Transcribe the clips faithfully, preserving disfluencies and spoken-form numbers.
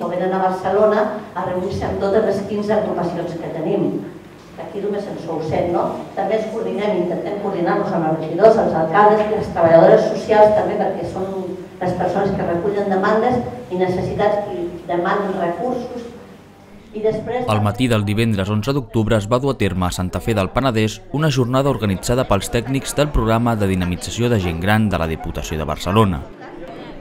o venen a Barcelona a reunir-se amb totes les quinze agrupacions que tenim. Aquí només en sou set, no? També ens coordinem, intentem coordinar-nos amb els regidors, els alcaldes i les treballadores socials també, perquè són les persones que recullen demandes i necessitats i demanen recursos. I després... Al matí del divendres onze d'octubre es va dur a terme a Santa Fe del Penedès una jornada organitzada pels tècnics del programa de dinamització de gent gran de la Diputació de Barcelona.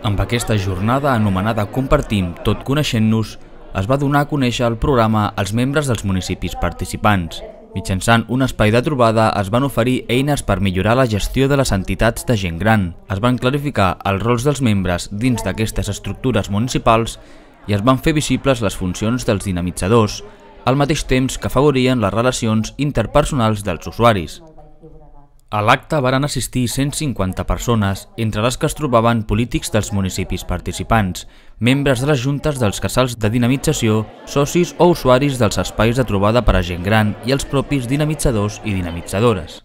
Amb aquesta jornada, anomenada Compartim tot coneixent-nos, es va donar a conèixer el programa als membres dels municipis participants. Mitjançant un espai de trobada es van oferir eines per millorar la gestió de les entitats de gent gran. Es van clarificar els rols dels membres dins d'aquestes estructures municipals i es van fer visibles les funcions dels dinamitzadors, al mateix temps que afavorien les relacions interpersonals dels usuaris. A l'acte varen assistir cent cinquanta persones, entre les que es trobaven polítics dels municipis participants, membres de les juntes dels casals de dinamització, socis o usuaris dels espais de trobada per a gent gran i els propis dinamitzadors i dinamitzadores.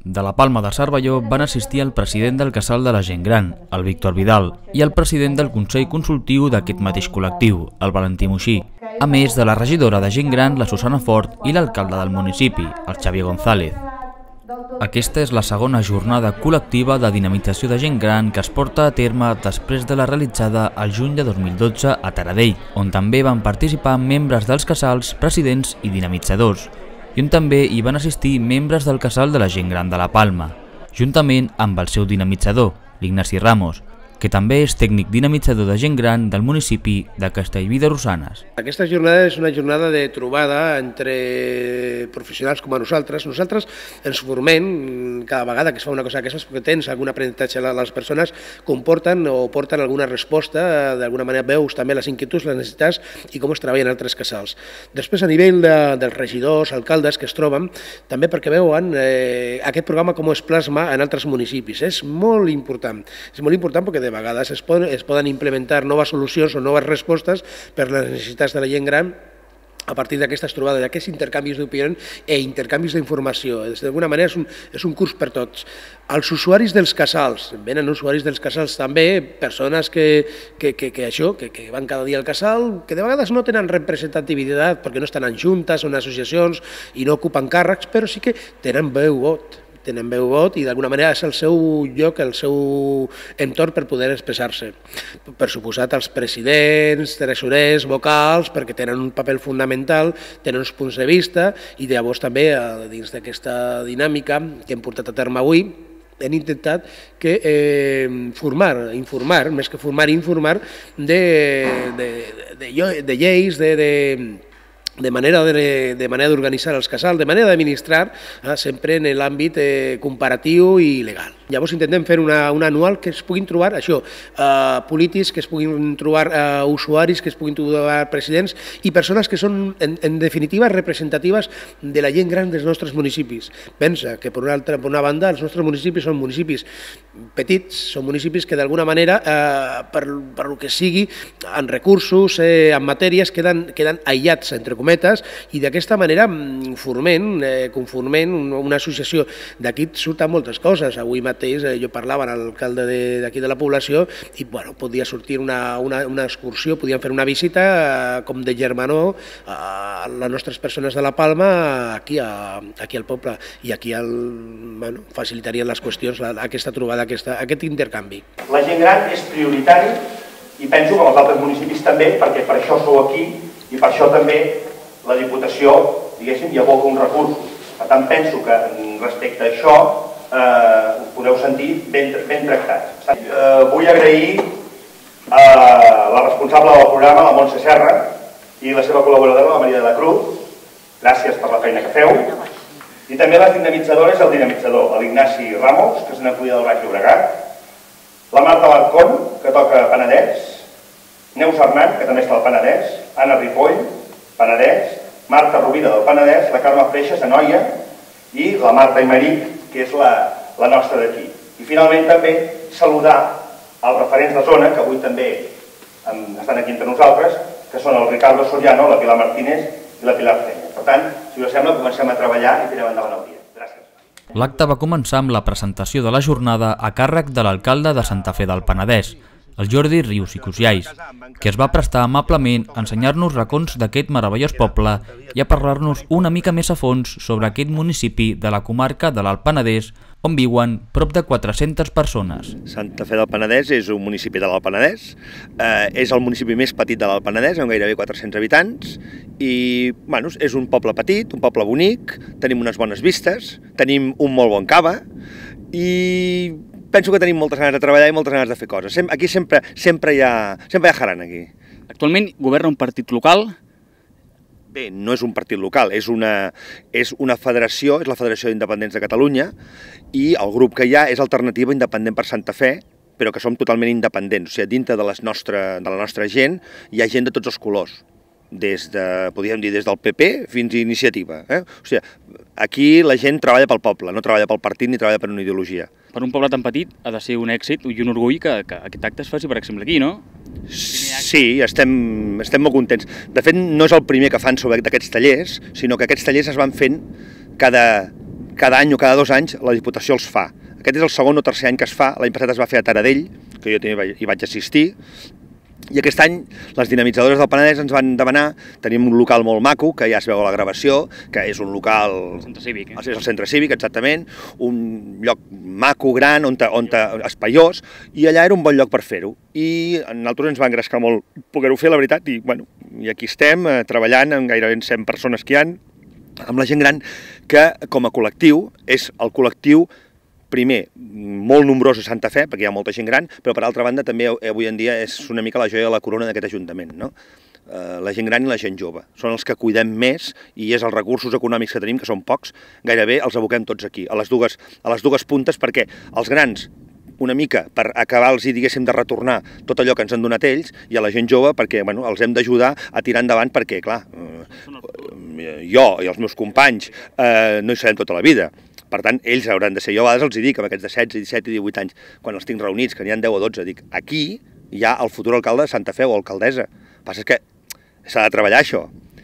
De la Palma de Cervelló van assistir el president del casal de la gent gran, el Víctor Vidal, i el president del Consell Consultiu d'aquest mateix col·lectiu, el Valentí Moixí, a més de la regidora de gent gran, la Susana Fort, i l'alcalde del municipi, el Xavier González. Aquesta és la segona jornada col·lectiva de dinamització de gent gran que es porta a terme després de la realitzada al juny de dos mil dotze a Taradell, on també van participar membres dels casals, presidents i dinamitzadors, i on també hi van assistir membres del casal de la gent gran de la Palma, juntament amb el seu dinamitzador, l'Ignasi Ramos, que també és tècnic dinamitzador de gent gran del municipi de Castellví de Rosanes. Aquesta jornada és una jornada de trobada entre professionals com a nosaltres. Nosaltres ens formem cada vegada que es fa una cosa d'aquestes perquè tens algun aprenentatge. Les persones comporten o porten alguna resposta, d'alguna manera veus també les inquietuds, les necessitats i com es treballa en altres casals. Després, a nivell de, dels regidors, alcaldes que es troben, també perquè veuen eh, aquest programa com es plasma en altres municipis. És molt important, és molt important perquè de a vegades es poden, es poden implementar noves solucions o noves respostes per les necessitats de la gent gran a partir d'aquestes trobades, d'aquests intercanvis d'opinió i intercanvis d'informació. D'alguna manera és un, és un curs per tots. Els usuaris dels casals, venen usuaris dels casals també, persones que, que, que, que això, que, que van cada dia al casal, que de vegades no tenen representativitat perquè no estan en juntes o en associacions i no ocupen càrrecs, però sí que tenen veu vot. tenen veu vot i d'alguna manera és el seu lloc, el seu entorn per poder expressar-se. Per suposat, els presidents, tresorers, vocals, perquè tenen un paper fundamental, tenen uns punts de vista i llavors també dins d'aquesta dinàmica que hem portat a terme avui hem intentat que eh, formar, informar, més que formar, informar de, de, de, de lleis, de... de de manera de, de manera d'organitzar els casals, de manera d'administrar, eh, sempre en l'àmbit eh, comparatiu i legal. Llavors intentem fer una, una anual que es puguin trobar això, eh, polítics, que es puguin trobar eh, usuaris, que es puguin trobar presidents i persones que són, en, en definitiva, representatives de la gent gran dels nostres municipis. Pensa que, per una, altra, per una banda, els nostres municipis són municipis petits, són municipis que d'alguna manera, eh, per, per el que sigui, en recursos, eh, en matèries, queden, queden aïllats, entre cometes, i d'aquesta manera formem, eh, conformem una associació. D'aquí surten moltes coses. Avui mateix eh, jo parlava amb l'alcalde d'aquí de la població i bueno, podia sortir una, una, una excursió, podien fer una visita eh, com de germanor a les nostres persones de la Palma aquí, a, aquí al poble i aquí el, bueno, facilitarien les qüestions la, aquesta trobada, aquesta, aquest intercanvi. La gent gran és prioritari i penso que els altres municipis també, perquè per això sou aquí i per això també la Diputació, diguéssim, hi aboca uns recursos. Per tant, penso que respecte a això eh, us podeu sentir ben, ben tractats. Eh, vull agrair a la responsable del programa, la Montse Serra, i la seva col·laboradora, la Maria de la Cruz. Gràcies per la feina que feu. I també les dinamitzadores, el dinamitzador, l'Ignasi Ramos, que és una cuida del Baix Llobregat, la Marta Larcón, que toca Penedès, Neus Arnat, que també està al Penedès, Anna Ripoll, Penedès, Marta Rovira del Penedès, la Carme Freixas, a Noia, i la Marta Imeric, que és la, la nostra d'aquí. I finalment també saludar els referents de zona, que avui també estan aquí entre nosaltres, que són el Ricardo Soriano, la Pilar Martínez i la Pilar Feña. Per tant, si us sembla, comencem a treballar i tirem endavant el dia. Gràcies. L'acte va començar amb la presentació de la jornada a càrrec de l'alcalde de Santa Fe del Penedès, el Jordi Rius i Cusiais, que es va prestar amablement a ensenyar-nos racons d'aquest meravellós poble i a parlar-nos una mica més a fons sobre aquest municipi de la comarca de l'Alt Penedès, on viuen prop de quatre-centes persones. Santa Fe del Penedès és un municipi de l'Alt Penedès, eh, és el municipi més petit de l'Alt Penedès, amb gairebé quatre-cents habitants, i bueno, és un poble petit, un poble bonic, tenim unes bones vistes, tenim un molt bon cava, i penso que tenim moltes ganes de treballar i moltes ganes de fer coses. Aquí sempre, sempre, hi, ha, sempre hi ha jarana, aquí. Actualment governa un partit local? Bé, no és un partit local, és una, és una federació, és la Federació d'Independents de Catalunya, i el grup que hi ha és Alternativa Independent per Santa Fe, però que som totalment independents. O sigui, dintre de, les nostra, de la nostra gent hi ha gent de tots els colors, des de, podríem dir, des del P P fins a Iniciativa. Eh? O sigui, aquí la gent treballa pel poble, no treballa pel partit ni treballa per una ideologia. Per un poble tan petit ha de ser un èxit i un orgull que, que aquest acte es faci, per exemple, aquí, no? Sí, estem, estem molt contents. De fet, no és el primer que fan sobre d'aquests tallers, sinó que aquests tallers es van fent cada, cada any o cada dos anys, la Diputació els fa. Aquest és el segon o tercer any que es fa, l'any passat es va fer a Taradell, que jo també hi vaig assistir, i aquest any les dinamitzadores del Penedès ens van demanar, tenim un local molt maco, que ja es veu a la gravació, que és un local... El centre cívic, eh? És el centre cívic, exactament, un lloc maco, gran, on, on espaiós, i allà era un bon lloc per fer-ho. I a nosaltres ens va engrescar molt poder-ho fer, la veritat, i, bueno, i aquí estem eh, treballant amb gairebé cent persones que hi ha, amb la gent gran, que com a col·lectiu és el col·lectiu primer, molt nombrós a Santa Fe, perquè hi ha molta gent gran, però per altra banda també avui en dia és una mica la joia de la corona d'aquest Ajuntament, no? La gent gran i la gent jove. Són els que cuidem més i és els recursos econòmics que tenim, que són pocs, gairebé els aboquem tots aquí, a les dues, a les dues puntes, perquè els grans, una mica per acabar-los i diguéssim de retornar tot allò que ens han donat ells, i a la gent jove perquè bueno, els hem d'ajudar a tirar endavant perquè, clar, eh, jo i els meus companys eh, no hi serem tota la vida. Per tant, ells hauran de ser. Jo a vegades els dic, amb aquests de setze, disset i divuit anys, quan els tinc reunits, que n'hi ha deu o dotze, dic, aquí hi ha el futur alcalde de Santa Fe o alcaldessa. El que passa és que s'ha de treballar això,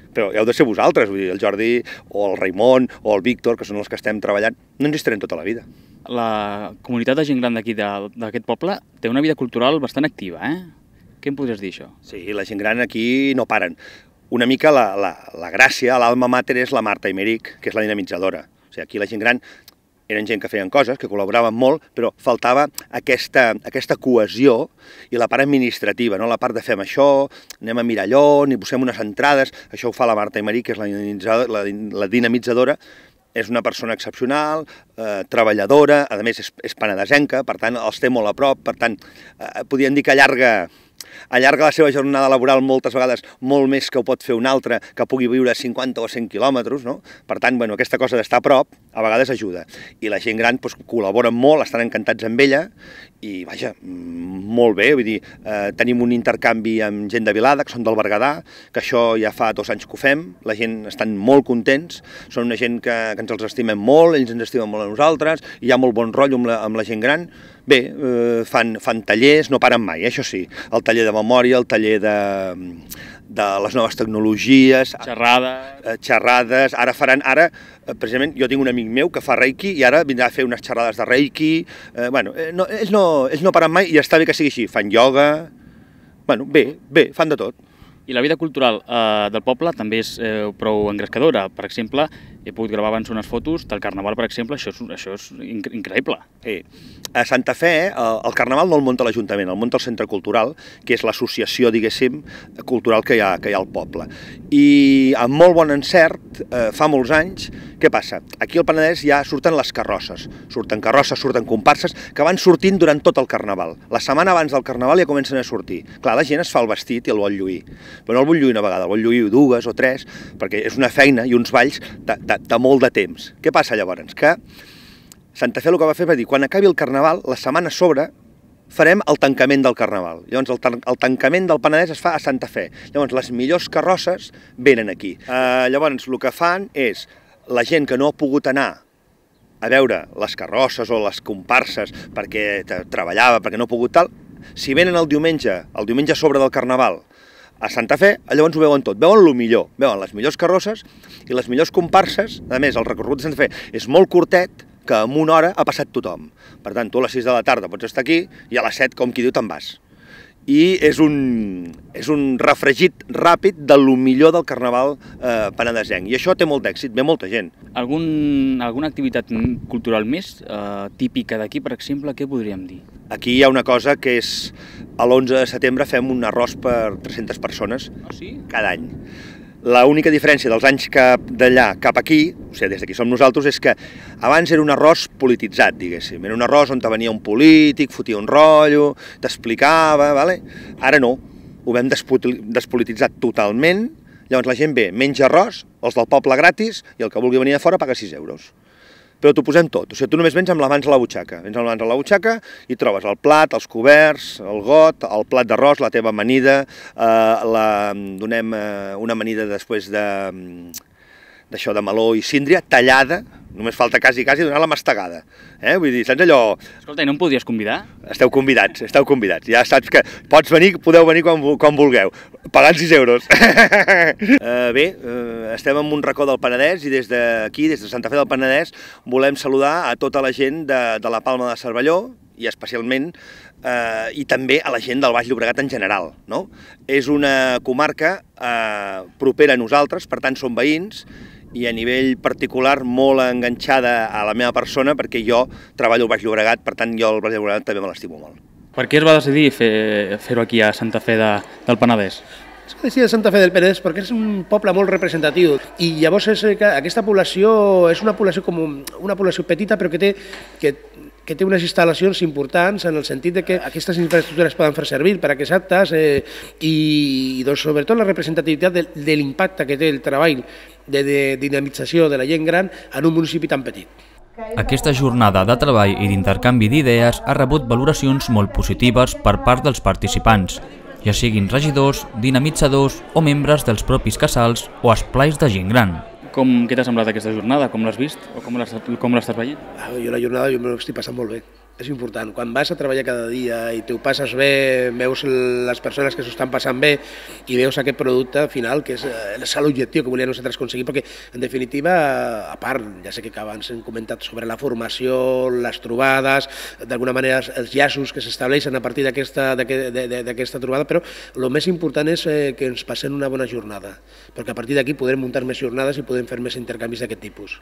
però heu de ser vosaltres, vull dir, el Jordi o el Raimon o el Víctor, que són els que estem treballant, no ens hi estarem tota la vida. La comunitat de gent gran d'aquí, d'aquest poble, té una vida cultural bastant activa, eh? Què em podries dir, això? Sí, la gent gran aquí no paren. Una mica la, la, la gràcia, l'alma mater és la Marta Imeric, que és la dinamitzadora. O sigui, aquí la gent gran eren gent que feien coses, que col·laboraven molt, però faltava aquesta, aquesta cohesió i la part administrativa, no? La part de fem això, anem a mirar allò, ni posem unes entrades, això ho fa la Marta Imeric, que és la dinamitzadora, la, la dinamitzadora, és una persona excepcional, eh, treballadora, a més és, és penedesenca, per tant els té molt a prop, per tant eh, podríem dir que allarga, allarga la seva jornada laboral moltes vegades molt més que ho pot fer un altre que pugui viure a cinquanta o cent quilòmetres, no? Per tant, bueno, aquesta cosa d'estar a prop a vegades ajuda. I la gent gran doncs, col·laboren molt, estan encantats amb ella i, vaja, molt bé, vull dir, eh, tenim un intercanvi amb gent de Vilada, que són del Berguedà, que això ja fa dos anys que ho fem, la gent estan molt contents, són una gent que, que ens els estimem molt, ells ens estimen molt a nosaltres, hi ha molt bon rotllo amb la, amb la gent gran. Bé, eh, fan, fan tallers, no paren mai, eh, això sí, el taller de memòria, el taller de, de les noves tecnologies... Xerrades... Eh, xerrades, ara faran, ara, eh, precisament, jo tinc un amic meu que fa reiki i ara vindrà a fer unes xerrades de reiki, eh, bueno, eh, no, ells, no, ells no paren mai i està bé que sigui així, fan ioga, bueno, bé, bé, fan de tot. I la vida cultural eh, del poble també és eh, prou engrescadora. Per exemple, he pogut gravar abans unes fotos del Carnaval, per exemple, això és, això és increïble. Sí. A Santa Fe, el, el Carnaval no el munta l'Ajuntament, el munta el Centre Cultural, que és l'associació, diguéssim, cultural que hi ha, que hi ha al poble. I amb molt bon encert, eh, fa molts anys, què passa? Aquí al Penedès ja surten les carrosses, surten carrosses, surten comparses, que van sortint durant tot el Carnaval. La setmana abans del Carnaval ja comencen a sortir. Clar, la gent es fa el vestit i el vol lluir, però no el vol lluir una vegada, el vol lluir dues o tres, perquè és una feina i uns balls de, de, de molt de temps. Què passa llavors? Que Santa Fe el que va fer va dir, quan acabi el Carnaval, la setmana a sobre, farem el tancament del Carnaval. Llavors, el, el tancament del Penedès es fa a Santa Fe. Llavors, les millors carrosses venen aquí. Uh, llavors, el que fan és, la gent que no ha pogut anar a veure les carrosses o les comparses perquè treballava, perquè no ha pogut tal, si venen el diumenge, el diumenge a sobre del Carnaval, a Santa Fe, llavors ho veuen tot, veuen el millor, veuen les millors carrosses i les millors comparses. A més, el recorregut de Santa Fe és molt curtet, que en una hora ha passat tothom. Per tant, tu a les sis de la tarda pots estar aquí i a les set, com qui diu, te'n vas. i és un, és un refregit ràpid de lo millor del carnaval eh, penedesenc. I això té molt d'èxit, ve molta gent. Algun, alguna activitat cultural més eh, típica d'aquí, per exemple, què podríem dir? Aquí hi ha una cosa que és, a l'onze de setembre fem un arròs per tres-centes persones Ah, sí? cada any. L'única diferència dels anys cap d'allà cap aquí, o sigui, des d'aquí som nosaltres, és que abans era un arròs polititzat, diguéssim. Era un arròs on venia un polític, fotia un rotllo, t'explicava, vale? Ara no, ho vam despolititzar totalment, llavors la gent ve, menja arròs, els del poble gratis, i el que vulgui venir de fora paga sis euros. Però t'ho posem tot, o sigui, tu només vens amb la mans a la butxaca, vens amb la mans a la butxaca i trobes el plat, els coberts, el got, el plat d'arròs, la teva amanida, eh, la, donem eh, una amanida després de d'això de meló i síndria, tallada, només falta quasi, quasi donar la mastegada. Eh? Vull dir, saps allò... Escolta, i no em podries convidar? Esteu convidats, esteu convidats. Ja saps que pots venir, podeu venir quan, quan vulgueu, pagant sis euros. uh, bé, uh, estem en un racó del Penedès i des d'aquí, des de Santa Fe del Penedès, volem saludar a tota la gent de, de la Palma de Cervelló, i especialment, eh, i també a la gent del Baix Llobregat en general, no? És una comarca eh, propera a nosaltres, per tant som veïns, i a nivell particular molt enganxada a la meva persona perquè jo treballo al Baix Llobregat, per tant jo el Baix Llobregat també me l'estimo molt. Per què es va decidir fer-ho fer aquí a Santa Fe de, del Penedès? Es va decidir a Santa Fe del Penedès perquè és un poble molt representatiu i llavors és que aquesta població és una població com una població petita però que té, que, que té unes instal·lacions importants en el sentit de que aquestes infraestructures poden fer servir per a aquests actes eh, i doncs, sobretot la representativitat de, de l'impacte que té el treball de, de dinamització de la gent gran en un municipi tan petit. Aquesta jornada de treball i d'intercanvi d'idees ha rebut valoracions molt positives per part dels participants, ja siguin regidors, dinamitzadors o membres dels propis casals o esplais de gent gran. Com, què t'ha semblat aquesta jornada? Com l'has vist o com l'estàs veient? Ah, jo la jornada jo me l'estic passant molt bé. És important. Quan vas a treballar cada dia i t'ho passes bé, veus les persones que s'ho estan passant bé i veus aquest producte final, que és, és l'objectiu que volíem nosaltres aconseguir, perquè en definitiva, a part, ja sé que abans hem comentat sobre la formació, les trobades, d'alguna manera els llaços que s'estableixen a partir d'aquesta trobada, però el més important és que ens passem una bona jornada, perquè a partir d'aquí podrem muntar més jornades i podem fer més intercanvis d'aquest tipus.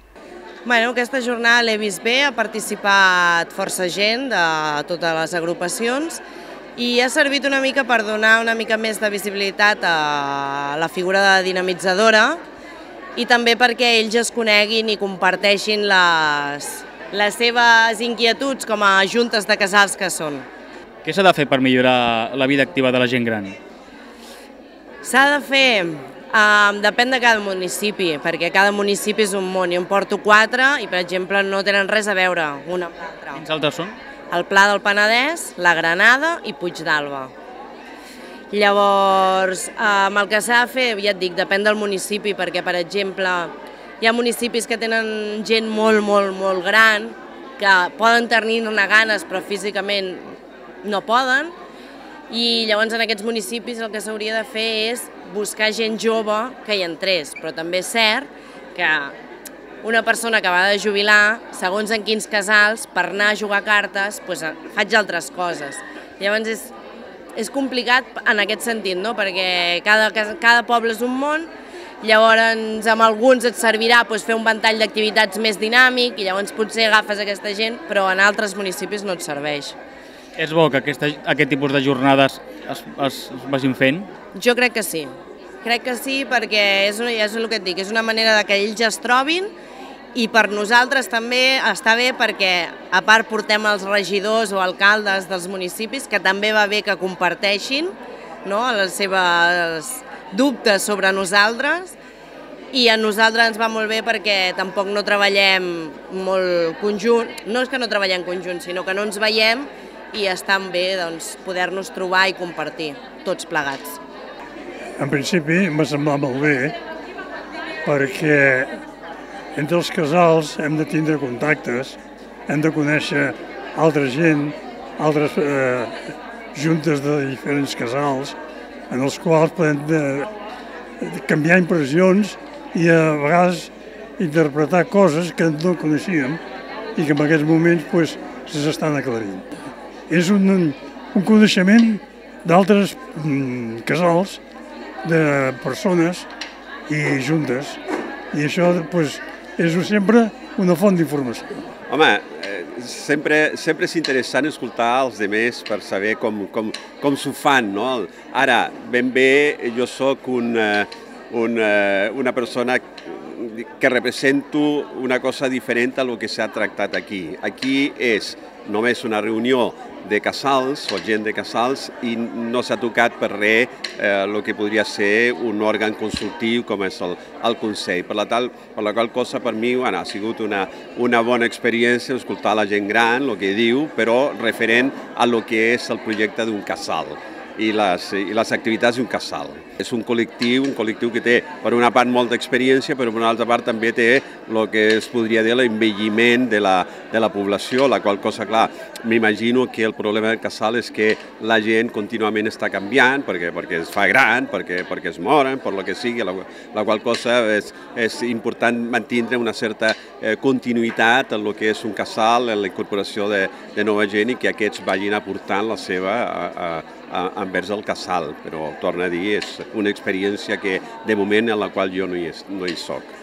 Bueno, aquesta jornada l'he vist bé, ha participat força gent de totes les agrupacions i ha servit una mica per donar una mica més de visibilitat a la figura de dinamitzadora i també perquè ells es coneguin i comparteixin les, les seves inquietuds com a juntes de casals que són. Què s'ha de fer per millorar la vida activa de la gent gran? S'ha de fer... Um, depèn de cada municipi, perquè cada municipi és un món. Jo en porto quatre i, per exemple, no tenen res a veure una amb l'altra. Quins altres són? El Pla del Penedès, la Granada i Puigdàlber. Llavors, um, el que s'ha de fer, ja et dic, depèn del municipi, perquè, per exemple, hi ha municipis que tenen gent molt, molt, molt gran, que poden tenir-ne ganes, però físicament no poden, i llavors en aquests municipis el que s'hauria de fer és buscar gent jove que hi entrés, però també és cert que una persona que va de jubilar, segons en quins casals, per anar a jugar cartes, doncs faig altres coses. Llavors és, és complicat en aquest sentit, no? Perquè cada, cada poble és un món, llavors amb alguns et servirà doncs, fer un ventall d'activitats més dinàmic i llavors potser agafes aquesta gent, però en altres municipis no et serveix. És bo que aquesta, aquest tipus de jornades es, es, es vagin fent? Jo crec que sí. Crec que sí perquè és, una, és el que et dic, és una manera de que ells es trobin i per nosaltres també està bé perquè a part portem els regidors o alcaldes dels municipis que també va bé que comparteixin, no?, les seves dubtes sobre nosaltres i a nosaltres ens va molt bé perquè tampoc no treballem molt conjunt, no és que no treballem conjunt, sinó que no ens veiem i està bé doncs, poder-nos trobar i compartir, tots plegats. En principi m'ha semblat molt bé perquè entre els casals hem de tindre contactes, hem de conèixer altra gent, altres eh, juntes de diferents casals, en els quals podem de, de canviar impressions i a vegades interpretar coses que no coneixíem i que en aquests moments pues, s'estan aclarint. És un, un coneixement d'altres casals de persones i juntes. I això doncs, és sempre una font d'informació. Home, sempre, sempre és interessant escoltar els altres per saber com, com, com s'ho fan, no? Ara, ben bé, jo sóc un, un, una persona que represento una cosa diferent a lo que s'ha tractat aquí. Aquí és només una reunió de casals o gent de casals i no s'ha tocat per res eh, el que podria ser un òrgan consultiu com és el, el Consell. Per la, tal, per la qual cosa per mi bueno, ha sigut una, una bona experiència escoltar la gent gran, el que diu, però referent a lo que és el projecte d'un casal i les, i les activitats d'un casal. És un col·lectiu, un col·lectiu que té per una part molta experiència, però per una altra part també té el que es podria dir l'envelliment de la, de la població, la qual cosa, clar, m'imagino que el problema del casal és que la gent contínuament està canviant, perquè, perquè es fa gran, perquè, perquè es moren, per lo que sigui, la, la qual cosa és, és important mantenir una certa eh, continuïtat en el que és un casal, en la incorporació de, de nova gent i que aquests vagin aportant la seva a, a, a, envers el casal, però torna a dir, és una experiència que de moment en la qual jo no hi, no hi soc.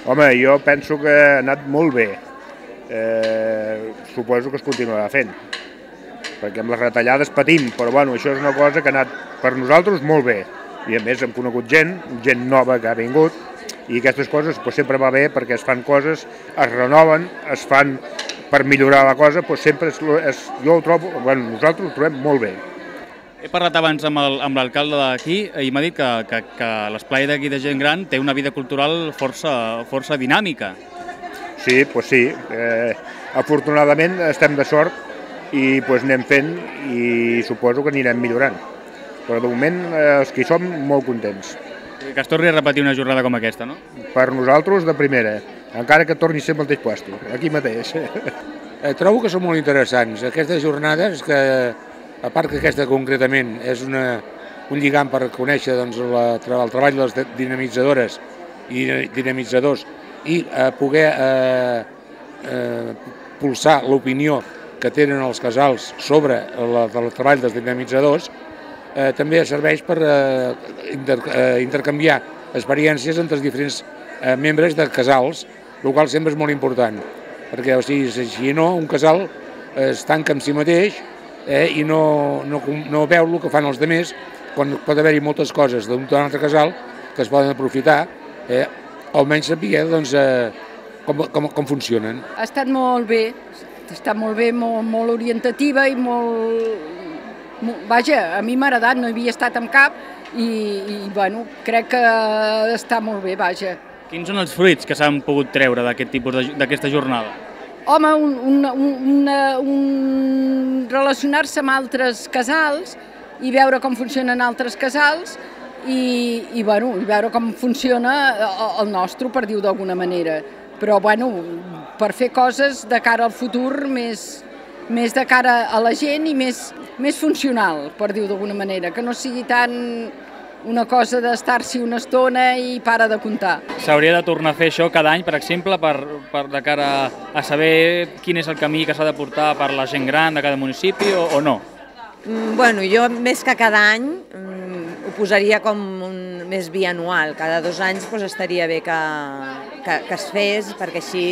Home, jo penso que ha anat molt bé. Eh, suposo que es continuarà fent, perquè amb les retallades patim, però bueno, això és una cosa que ha anat per nosaltres molt bé. I a més hem conegut gent, gent nova que ha vingut, i aquestes coses pues, sempre va bé perquè es fan coses, es renoven, es fan per millorar la cosa, pues, sempre és, és, jo ho trobo, bueno, nosaltres ho trobem molt bé. He parlat abans amb l'alcalde d'aquí i m'ha dit que, que, que l'esplai d'aquí de gent gran té una vida cultural força, força dinàmica. Sí, doncs sí. Eh, afortunadament estem de sort i pues, anem fent i suposo que anirem millorant. Però de moment eh, els que hi som molt contents. Que es torni a repetir una jornada com aquesta, no? Per nosaltres de primera, encara que torni a ser al mateix lloc, aquí mateix. Eh, trobo que són molt interessants. Aquestes jornades que a part que aquesta concretament és una, un lligam per conèixer doncs, la, el treball de les dinamitzadores i dinamitzadors i eh, poder eh, eh, pulsar l'opinió que tenen els casals sobre la, el treball dels dinamitzadors, eh, també serveix per eh, inter, eh, intercanviar experiències entre els diferents eh, membres de casals, el qual sempre és molt important, perquè o sigui, si no, un casal eh, es tanca en si mateix Eh, i no, no, no veu el que fan els altres, quan pot haver-hi moltes coses d'un altre casal que es poden aprofitar, eh, almenys saber doncs, eh, com, com, com funcionen. Ha estat molt bé, ha estat molt bé, molt, molt orientativa i molt, molt... Vaja, a mi m'ha agradat, no hi havia estat en cap i, i bueno, crec que està molt bé, vaja. Quins són els fruits que s'han pogut treure d'aquest tipus d'aquesta jornada? Home, un, un, un, un relacionar-se amb altres casals i veure com funcionen altres casals i, i, bueno, i veure com funciona el nostre, per dir-ho d'alguna manera. Però bueno, per fer coses de cara al futur, més, més de cara a la gent i més, més funcional, per dir-ho d'alguna manera, que no sigui tan una cosa d'estar-s'hi una estona i para de comptar. S'hauria de tornar a fer això cada any, per exemple, per, per de cara a saber quin és el camí que s'ha de portar per la gent gran de cada municipi o, o no? Mm, bueno, jo més que cada any mm, ho posaria com un més bianual. Cada dos anys pues, estaria bé que, que, que es fes, perquè així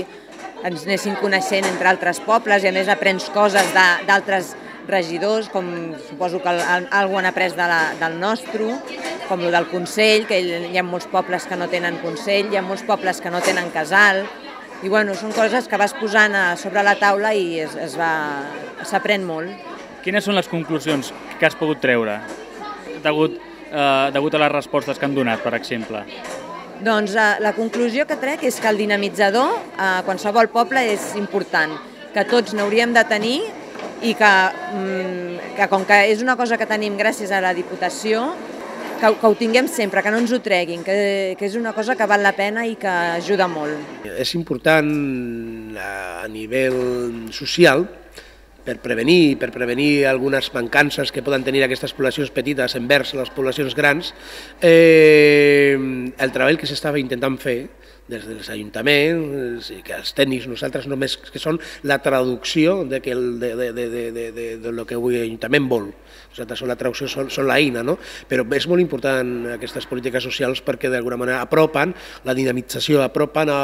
ens anessin coneixent entre altres pobles i a més aprens coses d'altres regidors, com suposo que algú han après de la, del nostre, com el del Consell, que hi ha molts pobles que no tenen Consell, hi ha molts pobles que no tenen casal, i bueno, són coses que vas posant a sobre la taula i es, es va, s'aprèn molt. Quines són les conclusions que has pogut treure, degut, eh, degut a les respostes que han donat, per exemple? Doncs eh, la conclusió que trec és que el dinamitzador a eh, qualsevol poble és important, que tots n'hauríem de tenir i que, que com que és una cosa que tenim gràcies a la Diputació, que, que ho tinguem sempre, que no ens ho treguin, que, que és una cosa que val la pena i que ajuda molt. És important a nivell social per prevenir, per prevenir algunes mancances que poden tenir aquestes poblacions petites envers les poblacions grans, eh, el treball que s'estava intentant fer des dels ajuntaments, i que els tècnics nosaltres només que són la traducció de, que el, de, de, de, de, de, de, de lo que avui l'Ajuntament vol. Nosaltres són la traducció, són, són l'eina, no? Però és molt important aquestes polítiques socials perquè d'alguna manera apropen la dinamització, apropen a,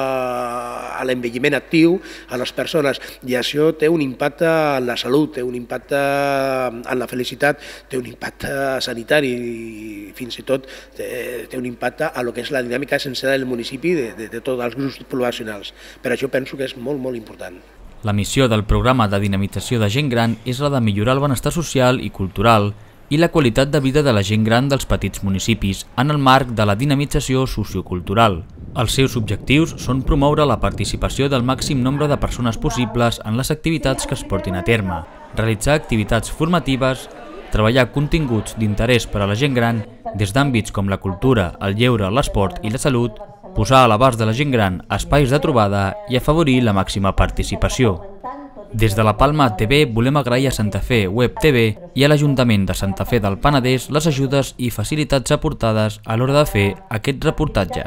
a l'envelliment actiu a les persones, i això té un impacte en la salut, té un impacte en la felicitat, té un impacte sanitari i fins i tot té, té un impacte a lo que és la dinàmica sencera del municipi de, de, de tots els grups poblacionals. Per això penso que és molt, molt important. La missió del programa de dinamització de gent gran és la de millorar el benestar social i cultural i la qualitat de vida de la gent gran dels petits municipis en el marc de la dinamització sociocultural. Els seus objectius són promoure la participació del màxim nombre de persones possibles en les activitats que es portin a terme, realitzar activitats formatives, treballar continguts d'interès per a la gent gran des d'àmbits com la cultura, el lleure, l'esport i la salut, posar a l'abast de la gent gran espais de trobada i afavorir la màxima participació. Des de la Palma T V volem agrair a Santa Fe Web T V i a l'Ajuntament de Santa Fe del Penedès les ajudes i facilitats aportades a l'hora de fer aquest reportatge.